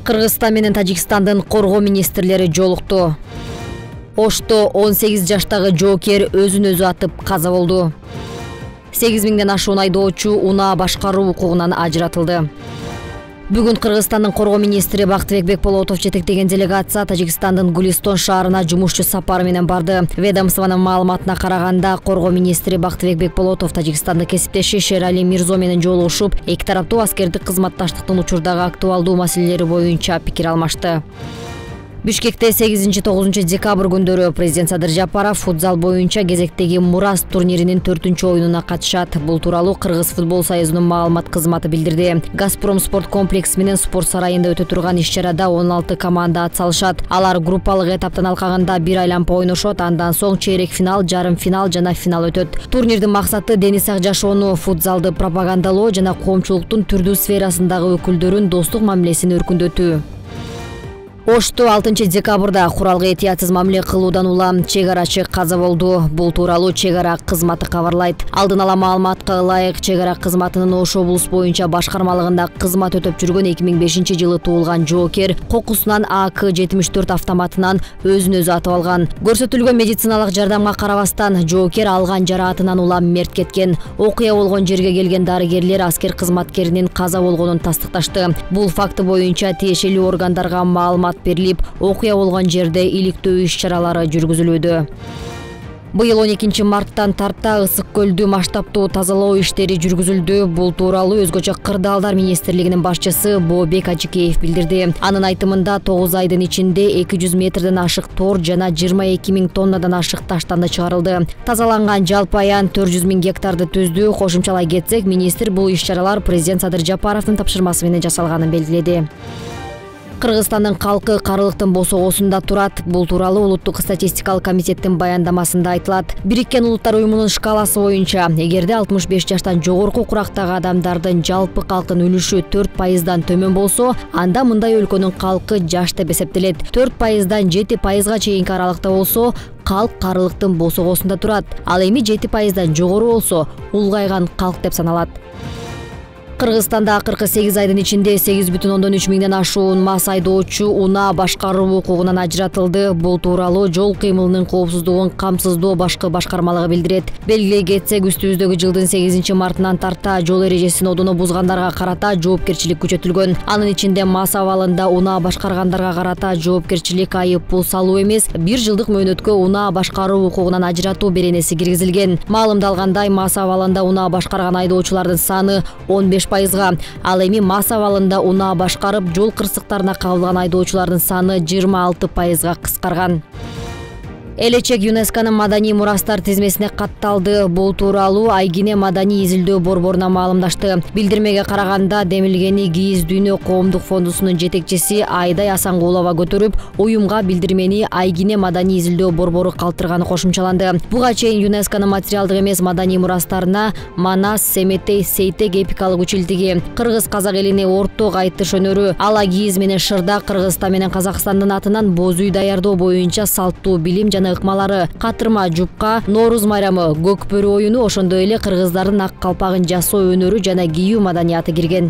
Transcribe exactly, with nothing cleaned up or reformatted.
Кыргызстан менен Тажикстандын коргоо министрлери жолукту. Ошто он сегиз жаштагы жоокер өзүн өзү атып каза болду. сегиз миңден ашуун айдоочу унаа башкаруу укугунан ажыратылды. Бүгүн Кыргызстандын коргоо министри Бактыбек Бекболотов жетектеген делегация Тажикстандын Гулистон шаарына жумушчу сапары менен барды. Ведомствонун маалыматына караганда, коргоо министри Бактыбек Бекболотов Тажикстандын кесиптеши Шерали Мирзо менен жолугушуп, эки тараптуу аскердик кызматташтыктын учурдагы актуалдуу маселелери боюнча пикир алмашты. Бишкекте сегизинчи тогузунчу декабрь күндөрү президент Садыр Жапаров футзал боюнча кезектеги Мурас турниринин төртүнчү оюнуна катышат. Бул тууралуу Кыргыз футбол союзунун маалымат кызматы билдирди. Газпром спорт комплекси менен спорт сарайында өтө турган иш-чарада он алты команда атсалышат. Алар группалык эtaптын алкагында бир айланпа ойношот, андан соң чейрек финал, жарым финал жана финал өтөт. Турнирдин максаты дени сак жашоону, футзалды пропагандалоо жана коомчулуктун түрдүү сферасындагы өкүлдөрүн достук мамилесин өркүндөтүү. Ошто алтынчы декабрда куралга этиятсыз мамиле кылуудан улам чек арачы каза болду. Бул тууралуу чек ара кызматы кабарлайт. Алдын ала маалыматка ылайык, чек ара кызматынын Ош облус боюнча башкармалыгында кызмат өтөп жүргөн эки миң бешинчи жылы туулган жоокер кокусунан А К жетимиш төрт автоматынан өзүн өзү атып алган. Көрсөтүлгөн медициналык жардамга карабастан, жоокер алган жараатынан улам мерт кеткен. Окуя болгон жерге келген дарыгерлер аскер кызматкеринин каза болгонун тастыкташты. Бул факты боюнча тиешелүү органдарга маалымат берилип, окуя болгон жерде иликтөө иш-чаралары жүргүзүлүүдө. Быйыл он экинчи марттан тарта Ысык көлдү масштабтуу тазалоо иштери жүргүзүлдү. Бул тууралуу Өзгөчө кырдаалдар министрлигинин башчысы Бообек Ажыкеев билдирди. Анын айтымында тогуз айдын ичинде эки жүз метрден ашык тор жана жыйырма эки миң тоннадан ашык таштанды чыгарылды. Тазаланган жалпы аян төрт жүз миң гектарды түздү. Кошумчалай кетсек, министр бул иш-чаралар президент Садыр Жапаровдун тапшырмасы менен жасалганын белгиледи. Кыргызстандын калкы карылыктын босогосунда турат. Бул тууралуу Улуттук статистикалык комитеттин баяндамасында айтылат. Бириккен Улуттар уюмунун шкаласы боюнча, эгерде алтымыш беш жаштан жогорку курактагы адамдардын жалпы калктын үлүшү төрт пайыздан төмөн болсо, анда мындай өлкөнүн калкы жаш деп эсептелет. төрт пайыздан жети пайызга чейинки аралыкта болсо, калк карылыктын босогосунда турат. Ал эми жети пайыздан жогору болсо, улгайган калк деп саналат. Кыргызстанда акыркы сегиз айдын ичинде сегиз бүтүн ондон үч миңден ашуун мас айдоочу унаа башкаруу укугунан ажыратылды. Бул тууралуу жол кыймылынын коопсуздугун камсыздоо башкы башкармалыгы билдирет. Белгилей кетсек, үстүбүздөгү жылдын сегизинчи мартынан тарта жол эрежесин одоно бузгандарга карата жоопкерчилик күчөтүлгөн. Анын ичинде мас абалында унаа башкаргандарга карата жоопкерчилик айып пул салуу эмес, бир жылдык мөөнөткө унаа башкаруу укугунан ажыратуу беренеси киргизилген. Маалымдалгандай, мас абалында унаа башкарган айдоочулардын саны он беш пайызга, ал эми мас абалында унаа башкарып жол кырсыктарына кабылган айдоочулардын саны жыйырма алты пайызга кыскарган. Элечек ЮНЕСКОнун маданий мурастар тизмесине катталды. Бул тууралуу Айгине маданий изилдөө борборуна маалымдашты. Билдирмеге караганда, демилгени Кийиз дүйнө коомдук фондусунун жетекчиси Айдай Асангулова көтөрүп, уюмга билдирмени Айгине маданий изилдөө борбору калтырганы кошумчаланды. Буга чейин ЮНЕСКОнун материалдык эмес маданий мурастарына Манас, Семетей, Сейтек эпикалык училтиги, кыргыз-казак элине орток айтыш өнөрү, ала кийиз менен шырда Кыргызстан менен Казакстандын атынан боз үй даярдоо боюнча салттуу билим жана ыкмалары, катырма жупка, Нооруз майрамы, көк бөрү оюну, ошондой эле кыргыздардын ак калпагын жасоо өнөрү жана кийүү маданияты кирген.